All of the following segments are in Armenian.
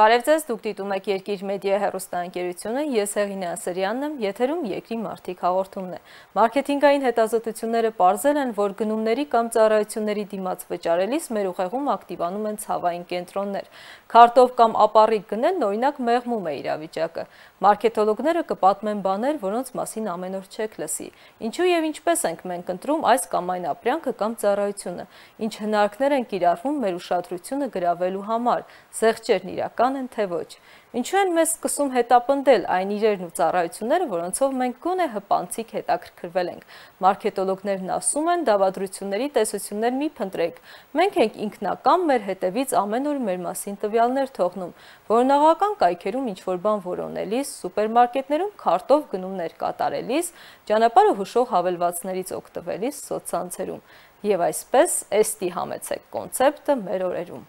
Բարև ձեզ, դուք դիտում եք Երկիր մեդիա հեռուստաընկերությունը, ես Հեղինե Ասրյանն եմ, եթերում Երկրի մարդիկ հաղորդումն է։ Մարքեթինգային հետազոտությունները պարզել են, որ գնումների կամ ծառայությունների դիմաց վճարելիս մեր ուղեղում ակտիվանում են ցավային կենտրոններ։ Քարտով կամ ապառիկ գնելն օրինակ մեղմում է իրավիճակը։ Մարքեթոլոգները կպատմեն բաներ, որոնց մասին ամեն օր չեք լսի։ Ինչու եւ ինչպես ենք մենք ընտրում այս կամ այն ապրանքը կամ ծառայությունը, ինչ հնարքներ են կիրառվում մեր ուշադրությունը գրավելու համար, զեղչերն իրական են թե ոչ։ Ինչու են մեզ սկսում հետապնդել այն իրերն ու ծառայությունները, որոնցով մենք գոնե հպանցիկ հետաքրքրվել ենք։ Մարքետոլոգներն ասում են, դավադրությունների տեսություններ մի փնտրեք։ Մենք ենք ինքնական մեր հետևից ամեն օր մեր մասին տվյալներ թողնում, որոնողական կայքերում ինչ-որ բան որոնելիս, սուպերմարկետներում քարտով գնումներ կատարելիս, ճանապարհը հուշող հավելվածներից օգտվելիս սոցցանցերում։ Եվ այսպես էստի համեցեք կոնցեպտը մեր օրերում։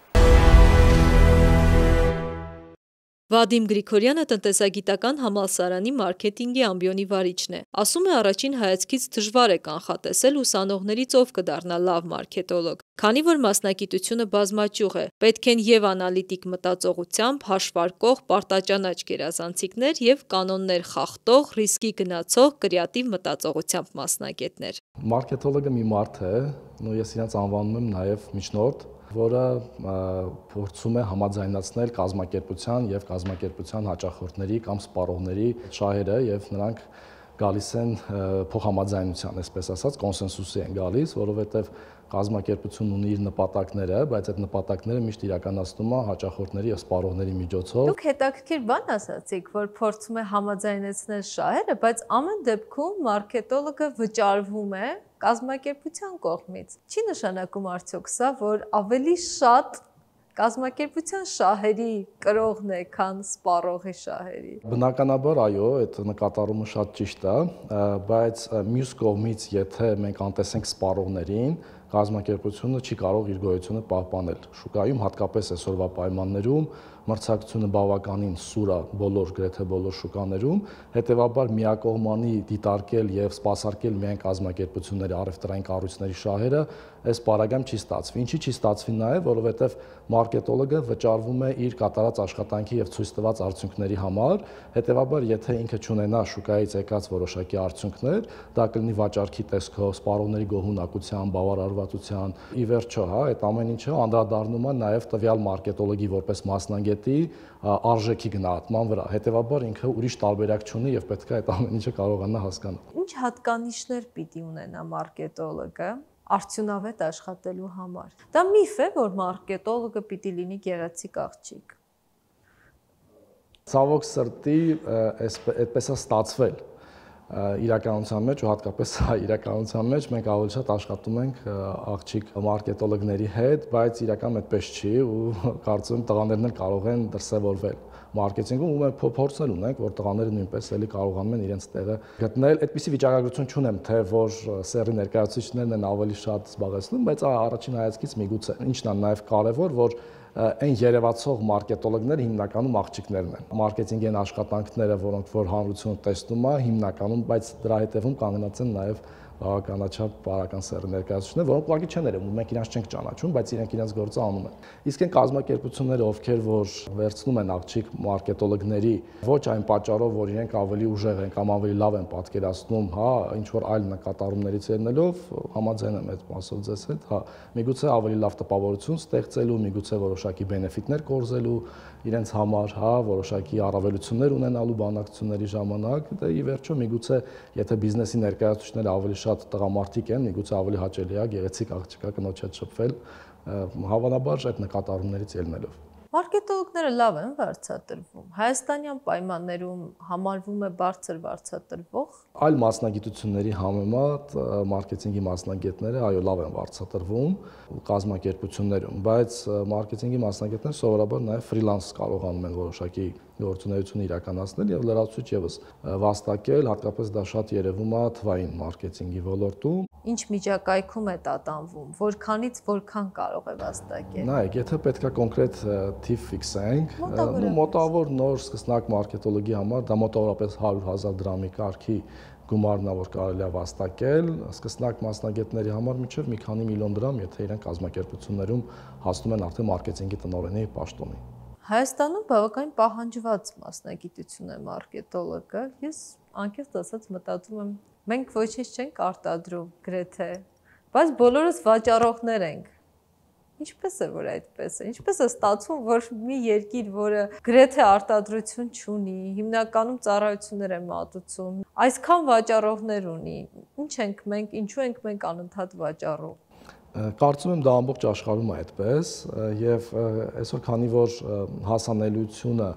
Վադիմ Գրիգորյանը տնտեսագիտական համալսարանի մարքեթինգի ամբիոնի վարիչն է։ Ասում է, առաջին հայացքից դժվար է կանխատեսել ուսանողներից ով կդառնա լավ մարքետոլոգ, քանի որ մասնագիտությունը բազմաճյուղ է, պետք են եւ անալիտիկ մտածողությամբ, հաշվարկող, պարտաճանաչ գերազանցիկներ եւ կանոններ խախտող, ռիսկի գնացող, կրեատիվ մտածողությամբ մասնագետներ։ Մարքետոլոգը մի մարդ է, ես իրենց անվանում եմ նաեւ միջնորդ, որը փորձում է համաձայնացնել կազմակերպության եւ կազմակերպության հաճախորդների կամ սպառողների շահերը եւ նրանք գալիս են փոխհամաձայնության, այսպես ասած, կոնսենսուսի են գալիս, որովհետեւ կազմակերպությունն ունի իր նպատակները, բայց այդ նպատակները միշտ իրականացնում է հաճախորդների եւ սպառողների միջոցով։ Դուք հետաքրքիր բան ասացիք, որ փորձում է համաձայնեցնել շահերը, բայց ամեն դեպքում մարքետոլոգը վճարվում է կազմակերպության կողմից։ Չի նշանակում արդյոք սա, որ ավելի շատ կազմակերպության շահերի կրողն է, քան սպառողի շահերի։ Բնականաբար, այո, այդ նկատառումը շատ ճիշտ է, բայց մյուս կողմից, եթե մենք անտեսենք սպառողներին, կազմակերպությունը չի կարող իր գոյությունը պահպանել։ Շուկայում հատկապես այսօրվա պայմաններում մրցակցությունը բավականին սուր է գրեթե բոլոր շուկաներում, հետևաբար միակողմանի դիտարկել եւ սպասարկել միայն կազմակերպությունների առևտրային կառույցների շահերը այս պարագայում չի ստացվի։ Ինչի չի ստացվի նաեւ, որովհետեւ մարքետոլոգը վճարվում է իր կատարած աշխատանքի եւ ցույց տված արդյունքների համար, հետևաբար եթե ինքը չունենա շուկայից եկած որոշակի արդյունքներ, դա կլինի վաճառքի տեսքով, սպառողների գոհունակության, բավարարվածության, ի վերջո, այդ ամեն ինչը անդրադառնում է նաեւ տվյալ մարքետոլոգի որպես մասնագետի արժեքի գնահատման վրա։ Հետևաբար ինքը ուրիշ տարբերակ չունի եւ պետք է այդ ամեն ինչը կարողանա հասկանալ։ Ինչ հատկանիշներ պիտի ունենա մարքետոլոգը արդյունավետ աշխատելու համար։ Դա միֆ է, որ մարքետոլոգը պիտի լինի գեղեցիկ աղջիկ։ Ցավոք սրտի, այդպես է ստացվել իրականության մեջ ու հատկապես իրականության մեջ մենք ավելի շատ աշխատում ենք աղջիկ մարքետոլոգների հետ, բայց իրականում այդպես չի ու կարծում եմ տղաներն էլ կարող են դրսևորվել մարքեթինգում ու մենք փորձներ ունենք, որ տղաները նույնպես էլի կարողանում են իրենց տեղը գտնել։ Այդպիսի վիճակագրություն չունեմ, թե որ սերի ներկայացուցիչներն են ավելի շատ զբաղեցնում, բայց առաջին հայացքից միգուցե։ Ինչն է նաև կարևոր, որ այն երևացող մարքետոլոգները հիմնականում աղջիկներն են։ Մարքեթինգային աշխատանքները, որոնք որ հանրությունը տեսնում է, հիմնականում, բայց դրա հետևում կանգնած են նաև բավականաչափ բարական սերի ներկայացուցիչներ, որոնք ուղղակի չեն երևում, մենք իրանց չենք ճանաչում, բայց իրենք իրենց գործը անում են։ Իսկ այն կազմակերպությունները, ովքեր որ վերցնում են աղջիկ մարքետոլոգների, ոչ այն պատճառով, որ իրենք ավելի ուժեղ են կամ ավելի լավ են պատկերացնում, ինչ որ այլ նկատառումներից ելնելով, համաձայն եմ այդ մասով ձեզ հետ, միգուցե ավելի լավ տպավորություն ստեղծելու, միգուցե որոշակի բենեֆիտներ կորզելու իրենց համար, որոշակի առավելություններ ունենալու բանակցությունների ժամանակ, դե ի վերջո միգուցե եթե բիզնեսի ներկայացուցիչները ավելի շատ տղամարդիկ են, միգուցե ավելի հաճելի է գեղեցիկ աղջկա կնոջ հետ շփվել, հավանաբար այդ նկատառումներից ելնելով։ Մարքետոլոգները լավ են վարձատրվում։ Հայաստանյան պայմաններում համարվում է բարձր վարձատրվող։ Այլ մասնագիտությունների համեմատ մարքեթինգի մասնագետները այո լավ են վարձատրվում կազմակերպություններում, բայց մարքեթինգի մասնագետները սովորաբար նաև ֆրիլանս կարողանում են որոշակի գործունեություն իրականացնել եւ լրացուցիչ եւս վաստակել, հատկապես դա շատ երևում է թվային մարքեթինգի ոլորտում։ Ինչ միջակայքում է տատանվում, որքանից որքան կարող է վաստակել։ Նայեք, եթե պետքա կոնկրետ թիվ ֆիքսենք, մոտավոր նոր սկսնակ մարքետոլոգի համար դա մոտավորապես 100,000 դրամի կարգի գումարն է, որ կարելի է վաստակել, սկսնակ մասնագետների համար մինչև մի քանի միլիոն դրամ, եթե իրենք կազմակերպություններում հասնում են արդեն մարքեթինգի տնօրենի պաշտոնի։ Հայաստանում բավականին պահանջված մասնագիտություն է մարքետոլոգը։ Ես անկեղծ ասած մտածում եմ, մենք ոչինչ չենք արտադրում գրեթե, բայց բոլորս վաճառողներ ենք։ Ինչպես է, որ այդպես է։ Ինչպես է ստացվում, որ մի երկիր, որը գրեթե արտադրություն չունի, հիմնականում ծառայություններ է մատուցում, այսքան վաճառողներ ունի։ Ինչ ենք մենք, ինչու ենք մենք անընդհատ վաճառում։ Կարծում եմ դա ամբողջ աշխարհում է այդպես եւ այսօր քանի որ հասանելիությունը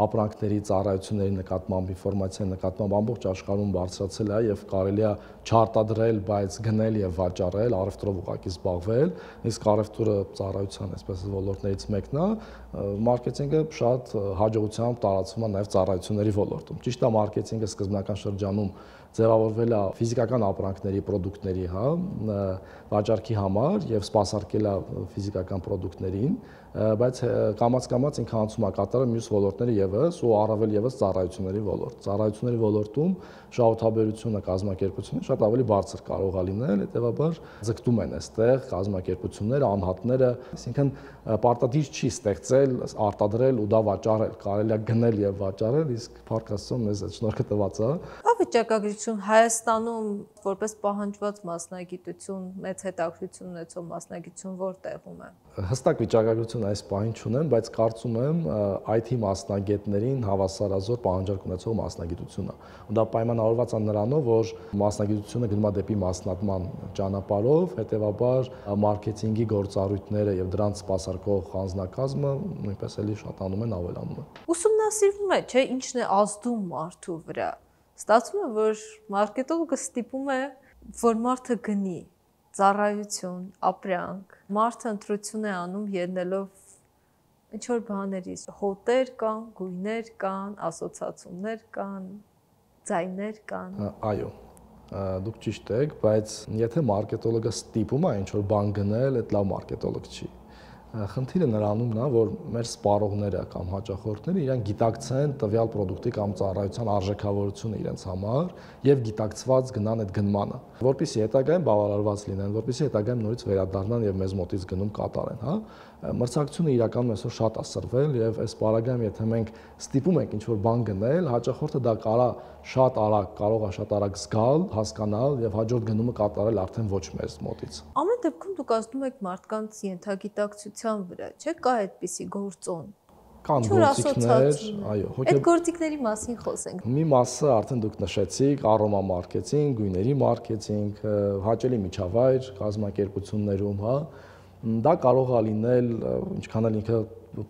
ապրանքների, ծառայությունների նկատմամբ, ինֆորմացիայի նկատմամբ ամբողջ աշխարհում բարձրացել է եւ կարելի է չարտադրել, բայց գնել եւ վաճառել, առևտրով ուղղակի զբաղվել, իսկ առևտուրը ծառայության այսպես ոլորտներից մեկն է, մարքեթինգը շատ հաջողությամբ տարածվում է նաեւ ծառայությունների ոլորտում։ Ճիշտ է, մարքեթինգը սկզբնական շրջանում ձևավորվել է ֆիզիկական ապրանքների, պրոդուկտների, հա, վաճառքի համար եւ սպասարկել է ֆիզիկական պրոդուկտներին, բայց կամաց-կամաց ինքը անցում է կատարել մյուս ոլորտները եւս ու առավել եւս ծառայությունների ոլորտ։ Ծառայությունների ոլորտում շահութաբերությունը, կազմակերպությունը շատ ավելի բարձր կարող է լինել, հետեւաբար ձգտում են այստեղ կազմակերպությունները, անհատները, այսինքն պարտադիր չի ստեղծել, արտադրել ու դա վաճառել, կարելի է գնել եւ վաճառել, իսկ փառք Աստծո մեզ այդ շնորհքը տված է։ Վիճակագրություն Հայաստանում որպես պահանջված մասնագիտություն, մեծ հետաքրքրություն ունեցող մասնագիտություն որտեղում է։ Հստակ վիճակագրություն այս պահին չունեմ, բայց կարծում եմ IT մասնագետներին հավասարազոր պահանջարկ ունեցող մասնագիտություն է։ Ու դա պայմանավորված է նրանով, որ մասնագիտությունը գնում է դեպի մասնատման ճանապարհով, հետեւաբար մարքեթինգի գործառույթները եւ դրանց սպասարկող անձնակազմը նույնպես էլի շատանում են, ավելանում են։ Ուսումնասիրվում է, չէ, ինչն է ազդում մարդու վրա։ Ստացվում է, որ մարքետոլոգը ստիպում է, որ մարդը գնի ծառայություն, ապրանք, մարդը ընտրություն է անում ելնելով ինչ-որ բաների, հոտեր կան, գույներ կան, ասոցիացիաներ կան, ձայներ կան։ Այո, դուք ճիշտ եք, բայց եթե մարքետոլոգը ստիպում է ինչ-որ բան գնել, այդ լավ մարքետոլոգ չի։ Խնդիրը նրանումն է, որ մեր սպառողները կամ հաճախորդները իրենք գիտակցեն տվյալ պրոդուկտի կամ ծառայության արժեքավորությունը իրենց համար եւ գիտակցված գնան այդ գնմանը, որպեսզի հետագայում բավարարված լինեն, որպեսզի հետագայում նորից վերադառնան եւ մեզ մոտից գնում կատարեն, հա։ Մրցակցությունը իրականում այսօր շատ է սրվել եւ այս պարագայում եթե մենք ստիպում ենք ինչ-որ բան գնել, հաճախորդը դա կարող է շատ արագ զգալ, հասկանալ եւ հաջորդ գնումը կատարել արդեն ոչ մեզ մոտից։ Ամեն դեպքում դուք ասում եք մարդկանց ենթագիտակցության վրա, չէ՞, կա այդպիսի գործոն։ Կան գործիքներ, այո, այդ գործիքների մասին խոսենք։ Մի մասը արդեն դուք նշեցիք, առոմա մարքեթինգ, գույների մարքեթինգ, հաճելի միջավայր կազմակերպություններում, հա, դա կարող է լինել, ինչքան էլ ինքը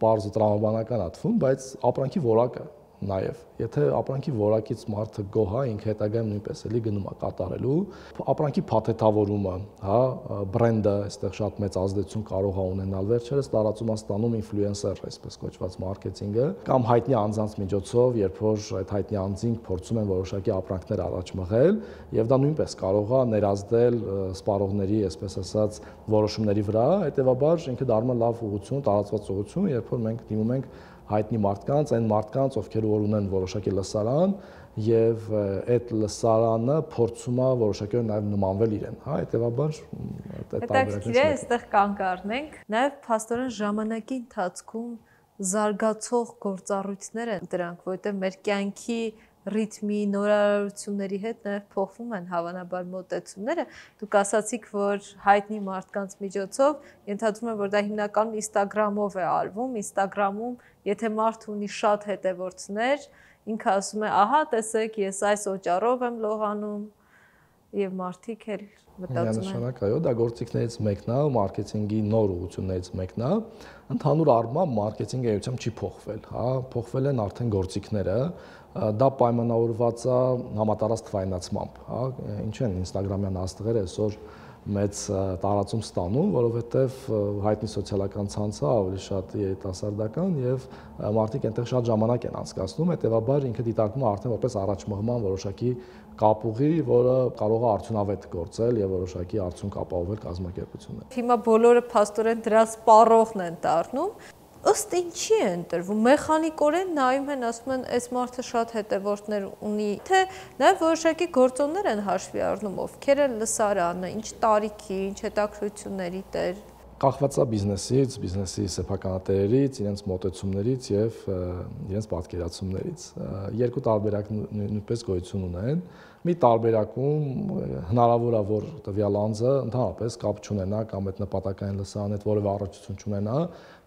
պարզ ու տրամաբանական է թվում, բայց ապրանքի որակը նաև, եթե ապրանքի որակից մարդը գոհ է, ինքը հետագայում նույնպես էլի գնում է կատարելու, ապրանքի փաթեթավորումը, հա, բրենդը այստեղ շատ մեծ ազդեցություն կարող է ունենալ, վերջերս տարածում է ստանում ինֆլուենսեր, այսպես կոչված մարքեթինգը, կամ հայտնի անձանց միջոցով, երբ որ այդ հայտնի անձինք փորձում են որոշակի ապրանքներ առաջ մղել, եւ դա նույնպես կարող է ներազդել սպառողների, այսպես ասած, որոշումների վրա, հետեւաբար ինքը դառնում է լավ ուղղություն, տարածված ուղղություն, երբ որ մենք դիմում ենք հայտնի մարդկանց, այն մարդկանց, ովքեր որ ունեն որոշակի լսարան եւ այդ լսարանը փորձում է որոշակի նաեւ նմանվել իրեն, հա, հետեւաբար այդ տարբերակներից է, այստեղ կանգ առնենք, նաեւ փաստորեն ժամանակի ընթացքում զարգացող գործառույթներ են դրանք, որովհետեւ մեր կյանքի ռիթմի, նորարարությունների հետ նաև փոխվում են հավանաբար մոտեցումները։ Դուք ասացիք, որ հայտնի մարդկանց միջոցով ենթադրում եմ, որ դա հիմնականում Instagram-ով է արվում, Instagram-ում, եթե մարդ ունի շատ հետևորդներ, ինքը ասում է, ահա, տեսեք, ես այս օճառով եմ լողանում, եւ մարդիկ էլ մտածում են։ Միանշանակ, այո, դա գործիքներից մեկն է, մարքեթինգի նոր ուղղություններից մեկն է։ Ընդհանուր առմամբ մարքեթինգը էությամբ չի փոխվել, հա, փոխվել են արդեն գործիքները, դա պայմանավորված է համատարած թվայնացմամբ, հա, ինչ են Instagram-յան աստղերը այսօր մեծ տարածում ստանում, որովհետև հայտնի սոցիալական ցանցը ավելի շատ երիտասարդական եւ մարդիկ այնտեղ շատ ժամանակ են անցկացնում, հետեւաբար ինքը դիտարկվում է արդեն որպես առաջմղման որոշակի կապուղի, որը կարող է արդյունավետ գործել եւ որոշակի արդյունք ապահովել կազմակերպությունները։ Հիմա բոլորը փաստորեն դրա սպառողն են դառնում։ Ըստ ինչի է ընտրվում, մեխանիկորեն նայում են, ասում են, այս մարդը շատ հետևորդներ ունի, թե նաև որոշակի գործոններ են հաշվի առնում, ովքեր են լսարանը, ինչ տարիքի, ինչ հետաքրքրությունների տեր։ Կախված է բիզնեսից, բիզնեսի սեփականատերերից, իրենց մոտեցումներից եւ իրենց պատկերացումներից։ Երկու տարբերակ նույնպես գոյություն ունեն։ Մի տարբերակում հնարավոր է, որ տվյալ անձը ընդհանրապես կապ չունենա կամ այդ նպատակային լսարանի հետ որևէ առնչություն չունենա,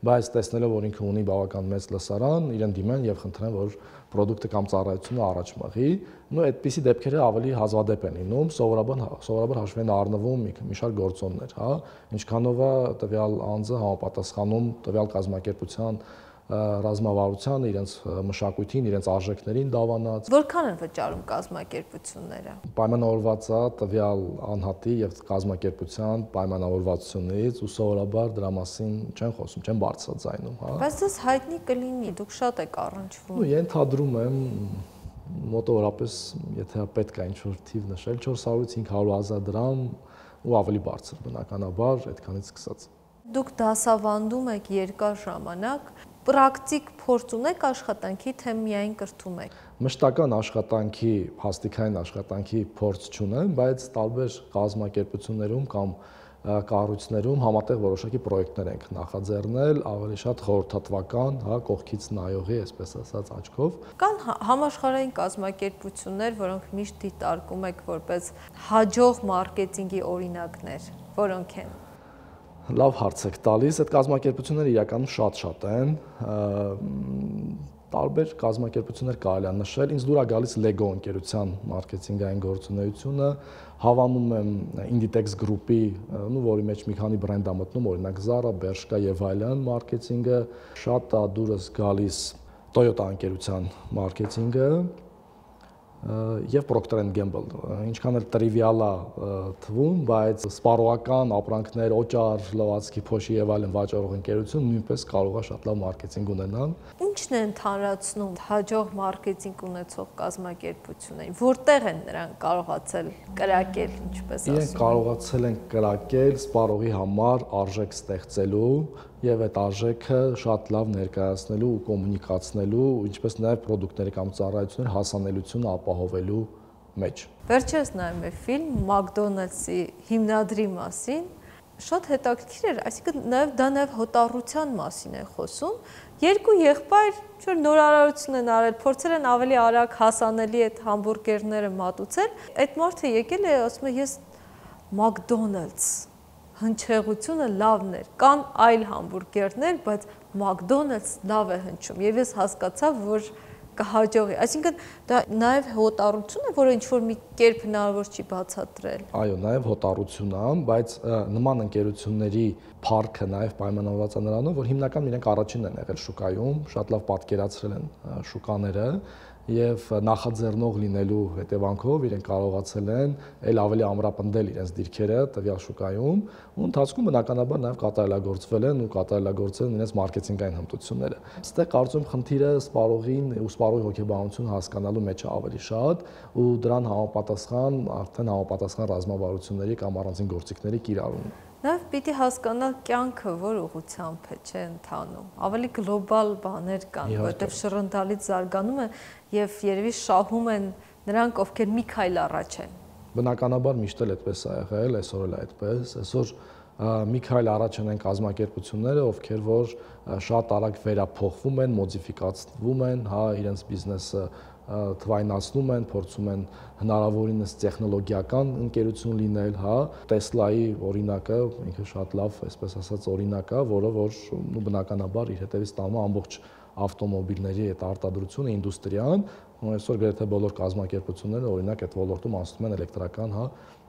բայց տեսնելով, որ ինքը ունի բավական մեծ լսարան, իրեն դիմեն եւ խնդրեն, որ պրոդուկտը կամ ծառայությունը առաջ մղի։ Նո այդպիսի դեպքերը ավելի հազվադեպ են լինում, սովորաբար հաշվի են առնվում մի շարք գործոններ, հա, ինչքանով է տվյալ անձը համապատասխանում տվյալ կազմակերպության ռազմավարությանը, իրենց մշակույթին, իրենց արժեքներին դավանած։ Որքան են վճարում կազմակերպությունները։ Պայմանավորված է տվյալ անհատի եւ կազմակերպության պայմանավորվածություններից ու սովորաբար դրա մասին չեն խոսում, չեն բարձրաձայնում, հա։ Բայց դες հայտնի կլինի, դուք շատ եք առնչվում։ Ու ենթադրում եմ մոտավորապես, եթե պետք է ինչ-որ թիվ նշել, 400-ից 500,000 դրամ ու ավելի բարձր բնականաբար այդքանից սկսած։ Դուք դասավանդում եք երկար ժամանակ, պրակտիկ փորձ ունեք աշխատանքի, թե միայն կրթում եք։ Մշտական աշխատանքի, հաստիկային աշխատանքի փորձ չունեմ, բայց տարբեր կազմակերպություններում կամ կառույցներում համատեղ որոշակի պրոյեկտներ ենք նախաձեռնել, ավելի շատ խորհրդատվական, հա, կողքից նայողի, այսպես ասած, աչքով։ Կան համաշխարհային կազմակերպություններ, որոնք միշտ դիտարկում եք որպես հաջող մարքեթինգի օրինակներ, որոնք են։ Լավ հարց եք տալիս, այդ կազմակերպությունները իրականում շատ են, տարբեր կազմակերպություններ կարելի է նշել, ինձ դուր է գալիս Lego ընկերության մարքեթինգային գործունեությունը, հավանում եմ Inditex Group-ի, որի մեջ մի քանի բրենդ է մտնում, օրինակ Zara, Bershka եւ այլն մարքեթինգը, շատ է դուրս գալիս Toyota ընկերության մարքեթինգը եւ Procter & Gamble, ինչքան էլ տրիվիալ է թվում, բայց սպառողական ապրանքներ, օճառ, լվացքի փոշի եւ այլն վաճառող ընկերություն նույնպես կարող է շատ լավ մարքեթինգ ունենալ։ Ինչն է ընդհանրացնում հաջող մարքեթինգ ունեցող կազմակերպություններին, որտեղ են նրանք կարողացել կրակել, ինչպես ասում են։ Իրենք կարողացել են կրակել սպառողի համար արժեք ստեղծելու եւ այդ արժեքը շատ լավ ներկայացնելու ու կոմունիկացնելու, ինչպես նաեւ պրոդուկտների կամ ծառայությունների հասանելիությունը ապահովելու մեջ։ Վերջերս նայում եմ ֆիլմ McDonald's-ի հիմնադրի մասին, շատ հետաքրքիր էր, այսինքն դա նաեւ հոտառության մասին է խոսում։ Երկու եղբայր ինչ-որ նորարարություն են արել, փորձել են ավելի արագ հասանելի այդ համբուրգերները մատուցել։ Այդ մարդը եկել է, ասում է, ես McDonald's հնչեղությունը լավն էր, կան այլ համբուրգերներ, բայց McDonald's լավ է հնչում եւ ես հասկացա, որ կհաջողի։ Այսինքն դա նաեւ հոտառություն է, որը ինչ-որ մի կերպ հնարավոր չի բացատրել։ Այո, նաեւ հոտառություն է, բայց նման ընկերությունների փառքը նաեւ պայմանավորված է նրանով, որ հիմնական իրենք առաջինն են եղել շուկայում, շատ լավ պատկերացրել են շուկաները եւ նախաձեռնող լինելու հետևանքով իրենք կարողացել են ել ավելի ամրապնդել իրենց դիրքերը տվյալ շուկայում ու ընթացքում բնականաբար նաեւ կատարելագործվել են ու կատարելագործել են իրենց մարքեթինգային հմտությունները։ Այստեղ կարծում եմ խնդիրը սպառողին ու սպառողի հոգեբանությունը հասկանալու մեջ է ավելի շատ ու դրան համապատասխան արդեն համապատասխան ռազմավարությունների կամ առանձին գործիքների կիրառումն։ Նաև պիտի հասկանալ կյանքը որ ուղղությամբ է, չէ, ընթանում։ Ավելի գլոբալ բաներ կան, որտեղ շռնդալից զարգանում է եւ երևի շահում են նրանք, ովքեր մի քայլ առաջ են։ Բնականաբար միշտ էլ այդպես է եղել, այսօր էլ այդպես, այսօր մի քայլ առաջ են կազմակերպությունները, ովքեր որ շատ արագ վերափոխվում են, մոդիֆիկացվում են, հա, իրենց բիզնեսը թվայնացնում են, փորձում են հնարավորինս տեխնոլոգիական ընկերություն լինել, հա, Tesla-ի օրինակը ինքը շատ լավ, այսպես ասած, օրինակ է, որը որ բնականաբար իր հետևից տանում ամբողջ ավտոմոբիլների այդ արտադրությունը, ինդուստրիան, այսօր գրեթե բոլոր կազմակերպությունները օրինակ այդ ոլորտում անցնում են էլեկտրական, հա,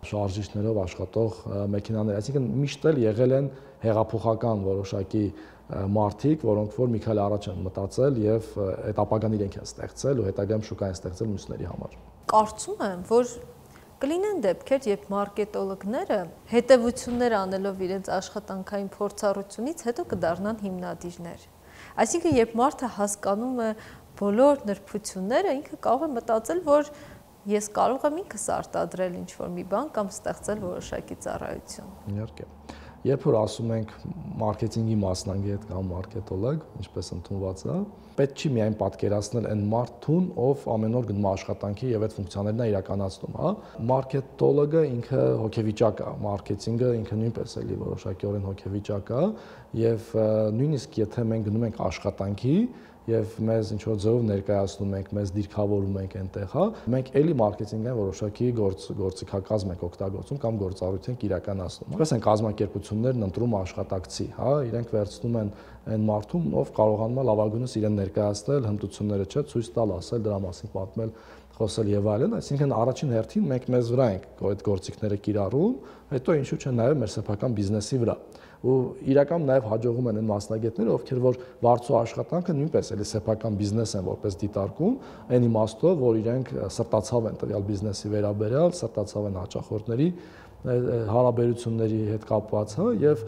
շարժիչներով աշխատող մեքենաներ, այսինքն միշտ էլ եղել են հեղափոխական որոշակի մարդիկ, որոնք որ մի քայլ առաջ են մտածել եւ այդ ապագան իրենք են ստեղծել ու հետագայում շուկա են ստեղծել մյուսների համար։ Կարծում եմ, որ կլինեն դեպքեր, երբ մարքետոլոգները հետևություններ անելով իրենց աշխատանքային փորձառությունից հետո կդառնան հիմնադիրներ։ Այսինքն, երբ մարդը հասկանում է բոլոր նրբությունները, ինքը կարող է մտածել, որ ես կարող եմ ինքս արտադրել ինչ-որ մի բան կամ ստեղծել որոշակի ծառայություն։ Իհարկե։ Երբ որ ասում ենք մարքեթինգի մասնագետ կամ մարքետոլոգ, ինչպես ընդունված է, պետք չի միայն պատկերացնել այն մարդուն, ով ամեն օր գնում է աշխատանքի եւ այդ ֆունկցիաներն է իրականացնում, հա։ Մարքետոլոգը ինքը հոգեվիճակ է, մարքեթինգը ինքը նույնպես էլի որոշակիորեն հոգեվիճակ է եւ նույնիսկ եթե մենք գնում ենք աշխատանքի եւ մեզ ինչ որ ձևով ներկայացնում ենք, մեզ դիրքավորում ենք այնտեղ, հա, մենք էլի մարքեթինգային որոշակի գործիքակազմ ենք օգտագործում կամ գործառույթ ենք իրականացնում։ Ինչպես են կազմակերպություններն ընտրում աշխատակցի, հա, իրենք վերցնում են այն մարդուն, ով կարողանում է լավագույնս իրեն ներկայացնել, հմտությունները չէ, ցույց տալ, ասել, դրա մասին պատմել, խոսել եւ այլն, այսինքն առաջին հերթին մենք մեզ վրա ենք այդ գործիքները կիրառում, հետո ինչու՞ չէ նաեւ մեր սեփական բիզնեսի վրա։ Ու իրական նաև հաջողում են այն մասնագետները, ովքեր որ վարձու աշխատանքը նույնպես էլի սեփական բիզնես են որպես դիտարկում, այն իմաստով, որ իրենք սրտացավ են տվյալ բիզնեսի վերաբերյալ, սրտացավ են հաճախորդների հարաբերությունների հետ կապված, հա, եւ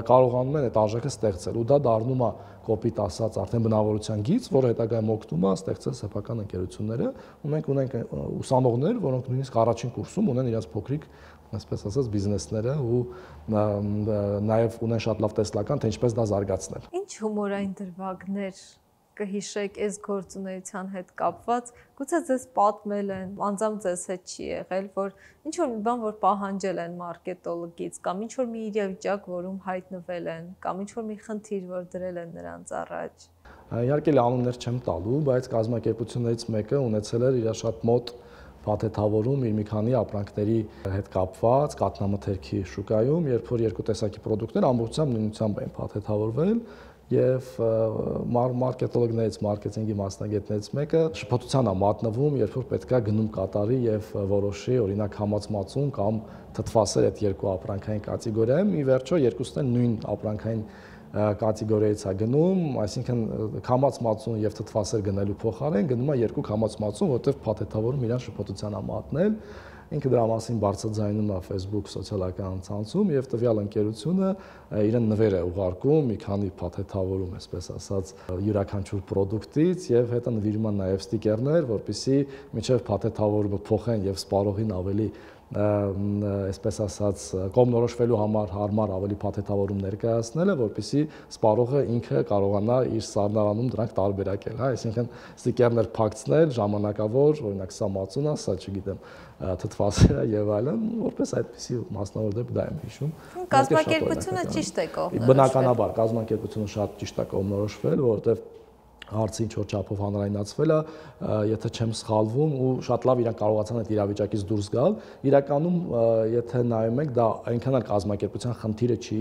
կարողանում են այդ արժեքը ստեղծել։ Ու դա դառնում է կոպիտ ասած արդեն բնավորության գիծ, որը հետագայում օգնում է ստեղծել սեփական ընկերությունները, ու մենք ունենք ուսանողներ, որոնք նույնիսկ առաջին կուրսում ունեն իրենց փոքրիկ, այսպես ասած, բիզնեսները ու նաև ունեն շատ լավ տեսլական, թե ինչպես դա զարգացնել։ Ինչ հումորային դրվագներ կհիշեք այս գործունեության հետ կապված, գուցե ձեզ պատմել են, անձամբ ձեզ հետ չի եղել, որ ինչ որ մի բան, որ պահանջել են մարքետոլոգից, կամ ինչ որ մի իրավիճակ, որում հայտնվել են, կամ ինչ որ մի խնդիր, որ դրել են նրանց առաջ։ Իհարկե անուններ չեմ տալու, բայց կազմակերպություններից մեկը ունեցել էր իր շատ մոտ փաթեթավորում իր մի քանի ապրանքների հետ կապված կատնամթերքի շուկայում, երբ որ երկու տեսակի պրոդուկտներ ամբողջությամբ նույնությամբ էին փաթեթավորվել եւ մարքետոլոգներից, մարքեթինգի մասնագետներից մեկը շփոթության է մատնվում, երբ որ պետքա գնում կատարի եւ որոշի օրինակ համացմածուն կամ թթվասեր այդ երկու ապրանքային կատեգորիայում, ի վերջո երկուսն են նույն ապրանքային կատեգորիայից է գնում, այսինքն քամած-մածուն եւ թթվասեր գնելու փոխարեն գնում է երկու քամած-մածուն, որտեղ փաթեթավորում իրան շփոթության է մատնել։ Ինքը դրա մասին բարձրաձայնում է Facebook սոցիալական ցանցում եւ տվյալ ընկերությունը իրեն նվեր է ուղարկում մի քանի փաթեթավորում, այսպես ասած, յուրաքանչյուր պրոդուկտից եւ հետո նվիրում են նաեւ ստիկերներ, որպեսզի միջև փաթեթավորումը փոխեն եւ սպառողին ավելի այսպես ասած կողմնորոշվելու համար հարմար ավելի փաթեթավորում ներկայացնելը, որպեսզի սպառողը ինքը կարողանա իր սառնարանում դրանք տարբերակել, հա, այսինքն ստիկերներ փակցնել ժամանակավոր, օրինակ սա մածուն է, սա չգիտեմ, թթվասեր է եւ այլն, որպես այդպեսի մասնավոր դեպք դա եմ հիշում։ Կազմակերպությունը ճիշտ է կողմնորոշվել։ Բնականաբար կազմակերպությունը շատ ճիշտ է կողմնորոշվել, որովհետեւ հարցը ինչ որ չափով հանրայնացվել է, եթե չեմ սխալվում, ու շատ լավ իրանք կարողացան այդ իրավիճակից դուրս գալ։ Իրականում, եթե նայում եք, դա այնքան էլ կազմակերպության խնդիրը չի,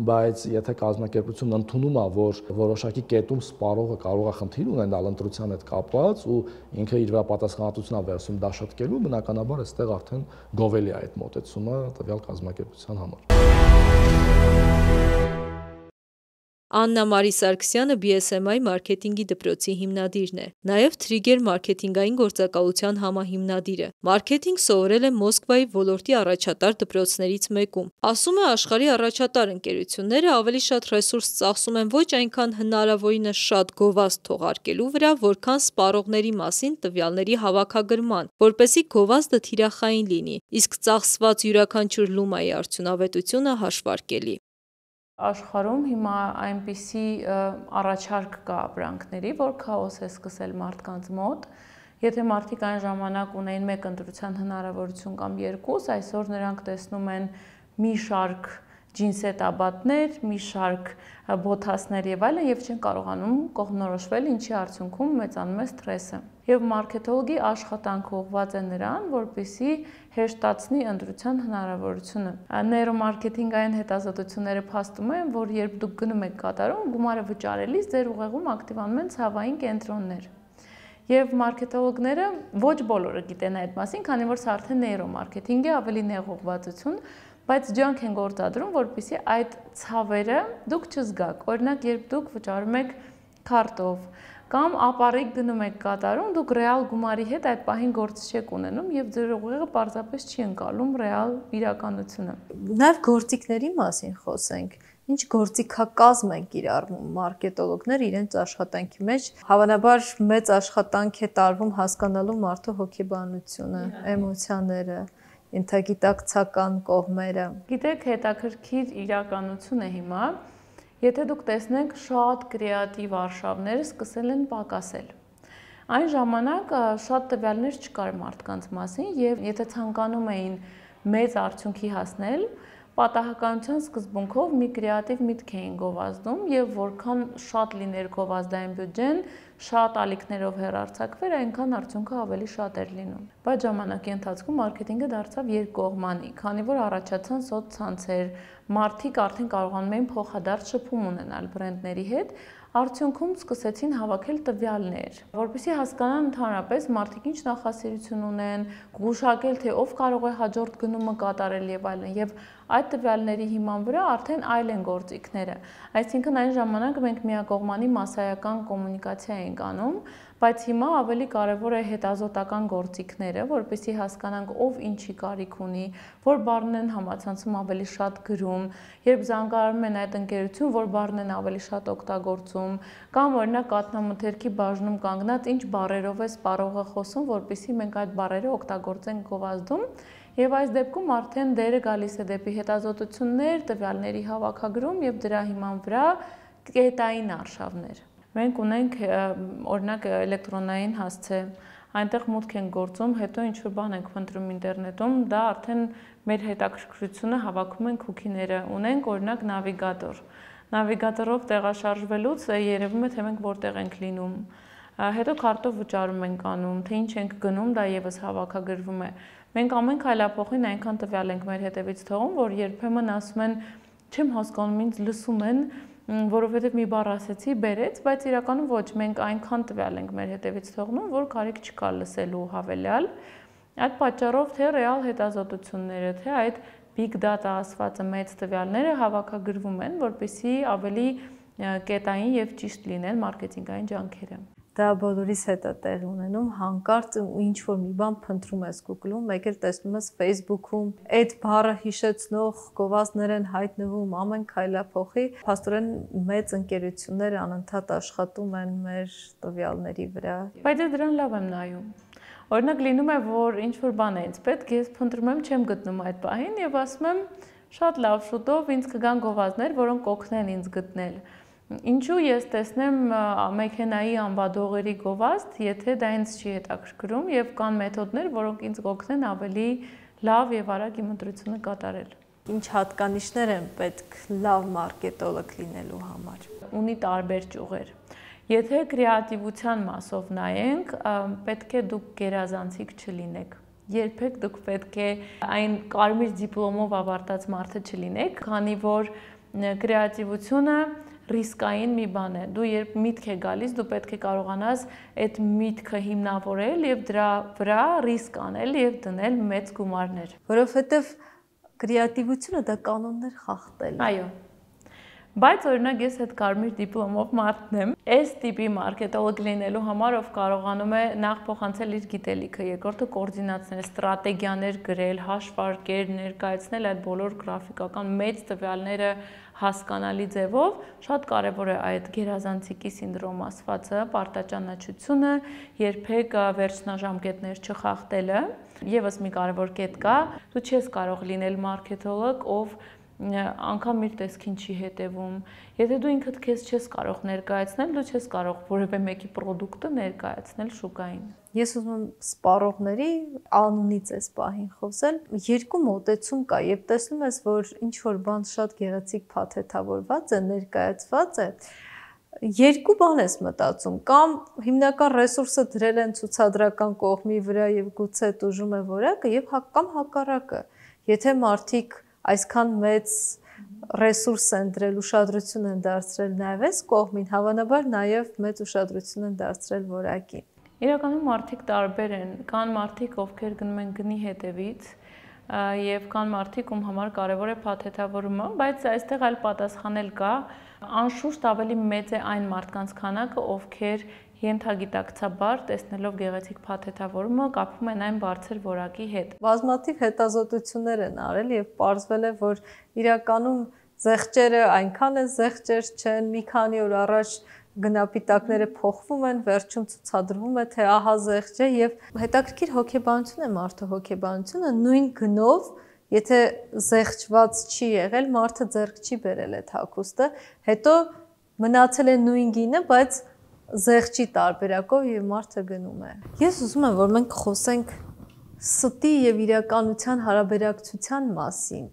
բայց եթե կազմակերպությունն ընդունում է, որ որոշակի կետում սպառողը կարող է խնդիր ունենալ ընտրության հետ կապված ու ինքը իր վրա պատասխանատվություն է վերցնում դա շտկելու, բնականաբար այստեղ արդեն գովելի է այդ մոտեցումը տվյալ կազմակերպության համար։ Աննա Մարի Սարգսյանը BSMI մարքեթինգի դպրոցի հիմնադիրն է, նաև Trigger մարքեթինգային գործակալության համահիմնադիրը։ Մարքեթինգ սովորել է Մոսկվայի ոլորտի առաջատար դպրոցներից մեկում։ Ասում է, աշխարհի առաջատար ընկերությունները ավելի շատ ռեսուրս ծախսում են ոչ այնքան հնարավորինս շատ գովազդ թողարկելու վրա, որքան սպառողների մասին տվյալների հավաքագրման, որպեսզի գովազդը թիրախային լինի, իսկ ծախսված յուրաքանչյուր լումայի արդյունավետությունը հաշվարկելի։ Աշխարհում հիմա այնպիսի առաջարկ կա ապրանքների, որ քաոս է սկսել մարդկանց մոտ։ Եթե մարդիկ այն ժամանակ ունեին մեկ ընտրության հնարավորություն կամ երկուս, այսօր նրանք տեսնում են մի շարք ջինսետաբատներ, մի շարք բոթասներ եւ այլն եւ չեն կարողանում կողմնորոշվել, ինչի արդյունքում մեծանում է սթրեսը։ Եվ մարքետոլոգի աշխատանքը ուղղված է նրան, որպեսզի հեշտացնի ընտրության հնարավորությունը։ Նեյրոմարքեթինգային հետազոտությունները փաստում են, որ երբ դուք գնում եք կատարում, գումարը վճարելիս ձեր ուղեղում ակտիվանում են ցավային կենտրոններ։ Եվ մարքետոլոգները ոչ բոլորը գիտեն այդ մասին, քանի որ սա արդեն նեյրոմարքեթինգ է, ավելի նեղ ուղղվածություն, բայց ջանք են գործադրում, որպեսզի այդ ցավերը դուք չզգաք։ Օրինակ, երբ դուք վճարում եք քարտով կամ ապառիկ գնում եք կատարում, դուք ռեալ գումարի հետ այդ պահին գործ չեք ունենում եւ ձեր ուղեղը պարզապես չի ընկալում ռեալ իրականությունը։ Նաեւ գործիքների մասին խոսենք։ Ինչ գործիքակազմ են կիրառում մարքետոլոգները իրենց աշխատանքի մեջ։ Հավանաբար մեծ աշխատանք է տարվում հասկանալու մարդու հոգեբանությունը, էմոցիաները։ ինտեգիտակցական կողմերը։ Գիտեք, հետաքրքիր իրականություն է հիմա, եթե դուք տեսնեք շատ կրեատիվ արշավներ սկսել են պակասել։ Այն ժամանակ շատ տվյալներ չկար մարդկանց մասին եւ եթե ցանկանում էին մեծ արդյունքի հասնել, պատահականության սկզբունքով մի կրեատիվ միտք էին գովազդում եւ որքան շատ լիներ գովազդային բյուջեն, շատ ալիքներով հեռարձակվեր, այնքան արդյունքը ավելի շատ էր լինում։ Բայց ժամանակի ընթացքում մարքեթինգը դարձավ երկկողմանի, քանի որ առաջացան սոցցանցեր, մարդիկ արդեն կարողանում էին փոխադարձ շփում ունենալ բրենդների հետ, արդյունքում սկսեցին հավաքել տվյալներ, որպեսզի հասկանան ընդհանրապես մարդիկ ինչ նախասիրություն ունեն, գուշակել թե ով կարող է հաջորդ գնումը կատարել եւ այլն, եւ այդ տվյալների հիման վրա արդեն այլ են գործիքները։ Այսինքն այն ժամանակ մենք միակողմանի մասսայական կոմունիկացիա ենք անում, բայց հիմա ավելի կարևոր է հետազոտական գործիքները, որպեսզի հասկանանք ով ինչի կարիք ունի, որ բառներն են համացանցում ավելի շատ գրում, երբ զանգարում են այդ ընկերություն, որ բառներն են ավելի շատ օգտագործում, կամ օրինակ կաթնամթերքի բաժնում կանգնած ինչ բառերով է սպառողը խոսում, որպեսզի մենք այդ բառերը օգտագործենք գովազդում, եւ այս դեպքում արդեն դերը գալիս է դեպի հետազոտություններ, տվյալների հավաքագրում եւ դրա հիման վրա կետային արշավներ։ Մենք ունենք օրինակ էլեկտրոնային հասցե, այնտեղ մուտք են գործում, հետո ինչ-որ բան ենք փնտրում ինտերնետում, դա արդեն մեր հետաքրքրությունը հավաքում են cookie-ները, ունենք օրինակ նավիգատոր։ Նավիգատորով տեղաշարժվելուց երևում է թե մենք որտեղ ենք լինում։ Հետո քարտով վճարում ենք անում, թե ինչ ենք գնում, դա եւս հավաքագրվում է։ Մենք ամեն քայլափոխին այնքան տվյալ ենք մեր հետևից թողում, որ երբեմն ասում են, չեմ հասկանում, ինձ լսում են, որովհետև մի բառ ասեցի, բերեց, բայց իրականում ոչ, մենք այնքան տվյալ ենք մեր հետևից թողնում, որ կարիք չկա լսելու հավելյալ։ Այդ պատճառով թե ռեալ հետազոտությունները, թե այդ big data ասվածը մեծ տվյալները հավաքագրվում են, որպեսզի ավելի կետային եւ ճիշտ լինեն մարքեթինգային ջանքերը։ Դա բոլորիս հետ է տեղ ունենում, հանկարծ ինչ որ մի բան փնտրում ես Google-ում, մեկ էլ տեսնում ես Facebook-ում, այդ բառը հիշեցնող գովազդներ են հայտնվում ամեն քայլափոխի, փաստորեն մեծ ընկերություններ անընդհատ աշխատում են մեր տվյալների վրա։ Բայց դրան լավ եմ նայում։ Օրինակ լինում է, որ ինչ որ բան է ինձ պետք, ես փնտրում եմ, չեմ գտնում այդ պահին եւ ասում եմ, շատ լավ, շուտով ինձ կգան գովազդներ, որոնք կօգնեն ինձ գտնել։ Ինչու ես տեսնեմ մեքենայի անվադողերի գովազդ, եթե դա ինձ չի հետաքրքրում եւ կան մեթոդներ, որոնք ինձ կօգնեն ավելի լավ եւ արագ իմ ընտրությունը կատարել։ Ինչ հատկանիշներ են պետք լավ մարքետոլոգ լինելու համար։ Ունի տարբեր ճյուղեր։ Եթե կրեատիվության մասով նայենք, պետք է դուք գերազանցիկ չլինեք։ Երբեք դուք պետք է այն կարմիր դիպլոմով ավարտած մարդը չլինեք, քանի որ կրեատիվությունը ռիսկային մի բան է։ Դու երբ միտք է գալիս, դու պետք է կարողանաս այդ միտքը հիմնավորել եւ դրա վրա ռիսկ անել եւ դնել մեծ գումարներ։ Որովհետեւ կրեատիվությունը դա կանոններ խախտել է։ Այո։ Բայց օրինակ ես այդ կարմիր դիպլոմով մարդն եմ, այս տիպի մարքետոլոգ լինելու համար ով կարողանում է նախ փոխանցել իր գիտելիքը, երկրորդը կոորդինացնել, ստրատեգիաներ գրել, հաշվարկեր ներկայացնել այդ բոլոր գրաֆիկական մեծ տվյալները հասկանալի ձևով, շատ կարևոր է այդ գերազանցիկի սինդրոմ ասվածը, պարտաճանաչությունը, երբեք վերջնաժամկետներ չխախտելը, եւս մի կարևոր կետ կա, դու չես կարող լինել մարքետոլոգ, ով անգամ իր տեսքին չի հետևում։ Եթե դու ինքդ քեզ չես կարող ներկայացնել, դու չես կարող որևէ մեկի պրոդուկտը ներկայացնել շուկային։ Ես ուզում եմ սպառողների անունից այս պահին խոսել։ Երկու մոտեցում կա, եւ տեսնում ես, որ ինչ որ բան շատ գեղեցիկ փաթեթավորված է, ներկայացված է, երկու բան ես մտածում, կամ հիմնական ռեսուրսը դրել են ցուցադրական կողմի վրա եւ գուցե տուժում է որակը, եւ կամ հակառակը։ Եթե մարդիկ այսքան մեծ ռեսուրս են դրել, ուշադրություն են դարձրել նաև այս կողմին, հավանաբար նաև մեծ ուշադրություն են դարձրել որակին։ Իրականում մարդիկ տարբեր են, կան մարդիկ, ովքեր գնում են գնի հետևից, եւ կան մարդիկ, ում համար կարևոր է փաթեթավորումը, բայց այստեղ այլ պատասխան էլ կա, անշուշտ ավելի մեծ է այն մարդկանց քանակը, ովքեր ենթագիտակցաբար տեսնելով գեղեցիկ փաթեթավորումը կապվում են այն բարձր որակի հետ։ Բազմաթիվ հետազոտություններ են արել եւ պարզվել է, որ իրականում զեղչերը այնքան է զեղչեր չեն, մի քանի օր առաջ գնապիտակները փոխվում են, վերջում ցուցադրվում է, թե ահա զեղչ է եւ հետաքրքիր հոգեբանություն է մարդու հոգեբանությունը նույն գնով, եթե զեղչված չի եղել, մարդը ձեռք չի բերել այդ հագուստը, հետո մնացել է նույն գինը, բայց զեղչի տարբերակով եւ մարդը գնում է։ Ես ուզում եմ, որ մենք խոսենք ստի եւ իրականության հարաբերակցության մասին։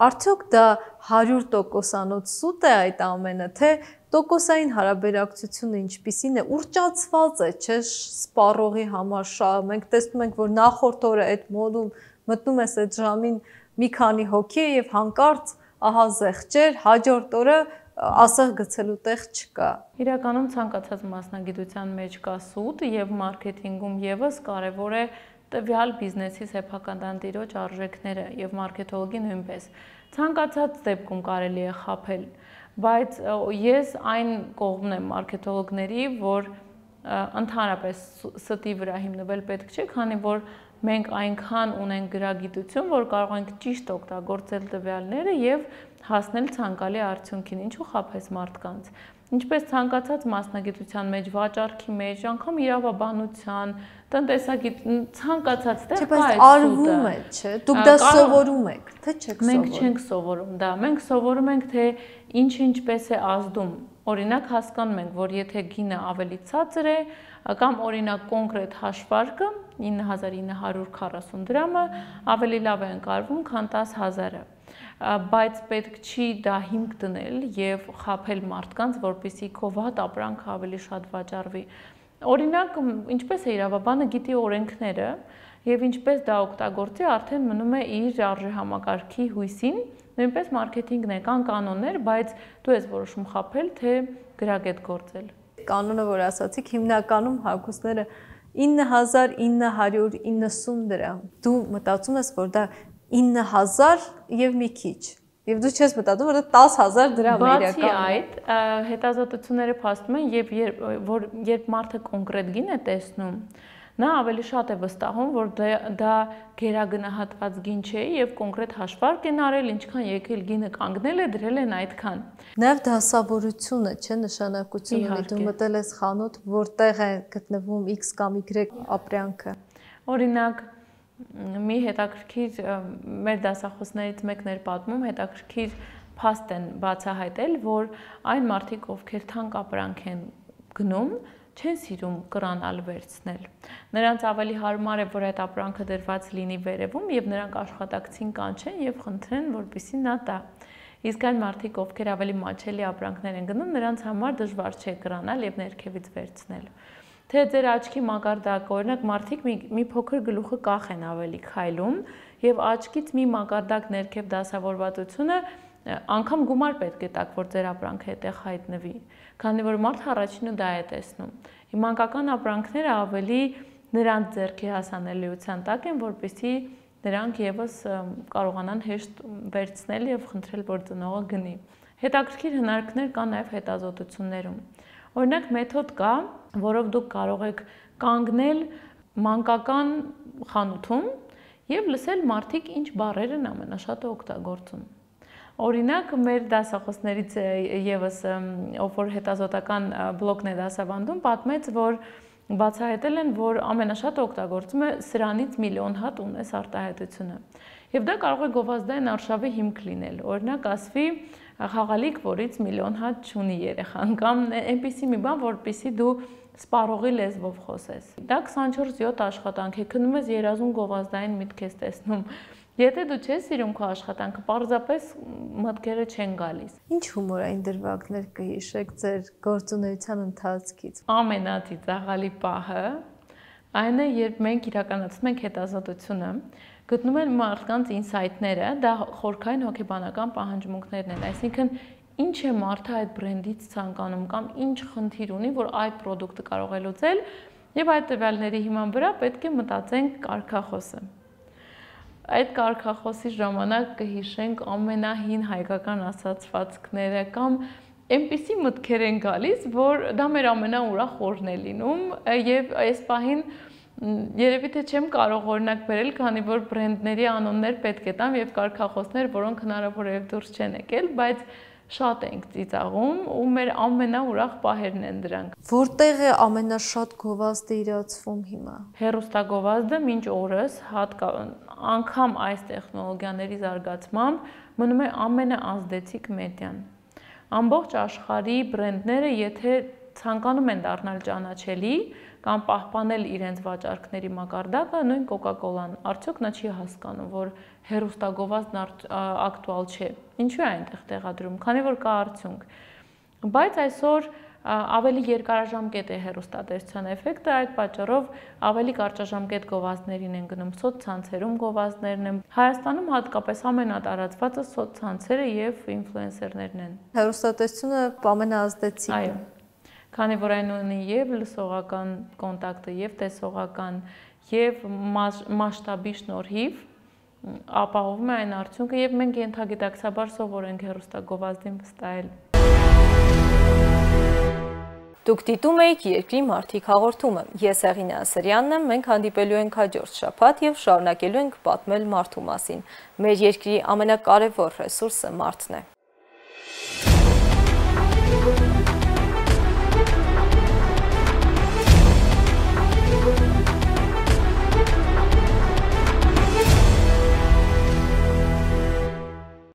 Արդյոք դա 100%-անոց սուտ է այդ ամենը, թե տոկոսային հարաբերակցությունը ինչպիսին է, ուռճացված է, չէ՞, սպառողի համար շահ։ Մենք տեսնում ենք, որ նախորդ օրը այդ մոդում մտնում ես այդ ժամին մի քանի հոգի եւ հանկարծ ահա զեղչեր, հաջորդ օրը ասեղ գցելու տեղ չկա։ Իրականում ցանկացած մասնագիտության մեջ կա սուտ եւ մարքեթինգում եւս կարեւոր է տվյալ բիզնեսի սեփական տիրոջ արժեքները եւ մարքեթոլոգի նույնպես։ Ցանկացած դեպքում կարելի է խաբել, բայց ես այն կողմն եմ մարքեթոլոգների, որ ընդհանրապես ստի վրա հիմնվել պետք չէ, քանի որ մենք այնքան ունենք գրագիտություն, որ կարող ենք ճիշտ օգտագործել տվյալները եւ հասնել ցանկալի արդյունքին, ինչու խաբես մարդկանց։ Ինչպես ցանկացած մասնագիտության մեջ, վաճառքի մեջ, անգամ իրավաբանության, տնտեսագիտ, ցանկացած տեղ կա այդ սուտը։ Արվում է, չէ՞։ Դուք դա սովորում եք, թե չեք սովորում։ Մենք չենք սովորում դա։ Մենք սովորում ենք, թե ինչ-ինչպես է ազդում։ Օրինակ հասկանում ենք, որ եթե գինը ավելի ցածր է, կամ օրինակ կոնկրետ հաշվարկը 9940 դրամը ավելի լավ է ընկալվում, քան 10000-ը։ Բայց պետք չի դա հիմք դնել եւ խաբել մարդկանց, որպեսզի քո վատ ապրանքը ավելի շատ վաճառվի։ Օրինակ, ինչպես է իրավաբանը գիտի օրենքները եւ ինչպես դա օգտագործի, արդեն մնում է իր արժեհամակարգի հույսին, նույնպես մարքեթինգն է, կան կանոններ, բայց դու ես որոշում խաբել, թե գրագետ գործել։ Կանոնը, որ ասացիք, հիմնականում հագուստները 9990 դրամ։ Դու մտածում ես, որ դա 9000 եւ մի քիչ։ Եվ դու չես մտածում, որ դա 10000 դրամ է իրականում։ Բացի այդ, հետազոտությունները փաստում են, երբ մարդը կոնկրետ գին է տեսնում, նա ավելի շատ է վստահում, որ դա գերագնահատված գին չէ եւ կոնկրետ հաշվարկ են արել, ինչքան եկել գինը կանգնել է, դրել են այդքան։ Նաև դասավորությունը, չէ, նշանակություն ունի, դու մտել ես խանութ, որտեղ է գտնվում X կամ Y ապրանքը։ Օրինակ, մի հետաքրքիր մեր դասախոսներից մեկն էր պատմում, հետաքրքիր փաստ են բացահայտել, որ այն մարդիկ, ովքեր թանկ ապրանք են գնում, չեն սիրում կրանալ վերցնել։ Նրանց ավելի հարմար է, որ այդ ապրանքը դրված լինի վերևում եւ նրանք աշխատակցին կանչեն եւ խնդրեն, որպեսզի նա տա։ Իսկ այն մարդիկ, ովքեր ավելի մաչելի ապրանքներ են գնում, նրանց համար դժվար չէ կրանալ եւ ներքևից վերցնել։ Թե ձեր աչքի մակարդակը, օրինակ մարդիկ մի փոքր գլուխը կախ են ավելի քայլում եւ աչքից մի մակարդակ ներքև դասավորվածությունը անգամ գումար պետք է տաք, որ ձեր ապրանքը այդտեղ հայտնվի, քանի որ մարդը առաջինը դա է տեսնում։ Մանկական ապրանքները ավելի նրանց ձեռքի հասանելիության տակ են, որպեսզի նրանք եւս կարողանան հեշտ վերցնել եւ խնդրել, որ ծնողը գնի։ Հետաքրքիր հնարքներ կան նաեւ հետազոտություններում։ Օրինակ մեթոդ կա, որով դուք կարող եք կանգնել մանկական խանութում եւ լսել մարդիկ ինչ բառեր են ամենաշատը օգտագործում։ Օրինակ, մեր դասախոսներից եւս ով որ հետազոտական բլոգն է դասավանդում, պատմեց, որ բացահայտել են, որ ամենաշատ օգտագործում է սրանից միլիոն հատ ունես արտահայտությունը։ Եվ դա կարող է գովազդային արշավի հիմք լինել։ Օրինակ, ասվի խաղալիք, որից միլիոն հատ չունի երեխան, կամ այնպիսի մի բան, որպեսզի դու սպառողի լեզվով խոսես։ Դա 24/7 աշխատանք է, քնում ես երազուն գովազդային միտք ես տեսնում։ Եթե դու չես սիրում քո աշխատանքը, պարզապես մտքերը չեն գալիս։ Ինչ հումորային դրվագներ կհիշեք ձեր գործունեության ընթացքից։ Ամենածիծաղալի պահը այն է, երբ մենք իրականացնում ենք հետազոտությունը, գտնում են մարդկանց ինսայթները, դա խորքային հոգեբանական պահանջմունքներն են, այսինքն ինչ է մարդը այդ բրենդից ցանկանում կամ ինչ խնդիր ունի, որ այդ պրոդուկտը կարող է լուծել, եւ այդ տվյալների հիման վրա պետք է մտածենք կարգախոսը։ Այդ կարգախոսի ժամանակ կհիշենք ամենահին հայկական ասացվածքները կամ այնպիսի մտքեր են գալիս, որ դա մեր ամենաուրախ օրն է լինում եւ այս պահին երևի թե չեմ կարող օրինակ բերել, քանի որ բրենդների անուններ պետք է տամ եւ կարգախոսներ, որոնք հնարավոր է դուրս չեն եկել, բայց շատ ենք ծիծաղում ու մեր ամենաուրախ պահերն են դրանք։ Որտեղ է ամենաշատ գովազդը իրացվում հիմա։ Հեռուստագովազդը մինչ օրս անգամ այս տեխնոլոգիաների զարգացմամբ մնում է ամենաազդեցիկ մեդիան։ Ամբողջ աշխարհի բրենդները, եթե ցանկանում են դառնալ ճանաչելի կամ պահպանել իրենց վաճառքների մակարդակը, նույն Coca-Cola-ն, արդյոք նա չի հասկանում, որ հեռուստագովազդն ակտուալ չէ։ Ինչու է այնտեղ տեղադրում, քանի որ կա արդյունք։ Բայց այսօր ավելի երկարաժամկետ է հեռուստատեսության էֆեկտը, այդ պատճառով ավելի կարճաժամկետ գովազդներին են գնում, սոցցանցերում գովազդներն են։ Հայաստանում հատկապես ամենատարածվածը սոցցանցերը եւ ինֆլուենսերներն են։ Հեռուստատեսությունը ամենաազդեցիկն է։ Այո։ Քանի որ այն ունի եւ լսողական կոնտակտը, եւ տեսողական, եւ մասշտաբի շնորհիվ ապահովում է այն արդյունքը, եւ մենք ենթագիտակցաբար սովոր ենք հեռուստագովազդին վստահել։ Դուք դիտում եք Երկրի մարդիկ հաղորդումը։ Ես Հեղինե Ասրյանն եմ, մենք հանդիպելու ենք հաջորդ շաբաթ եւ շարունակելու ենք պատմել մարդու մասին։ Մեր երկրի ամենակարևոր ռեսուրսը մարդն է։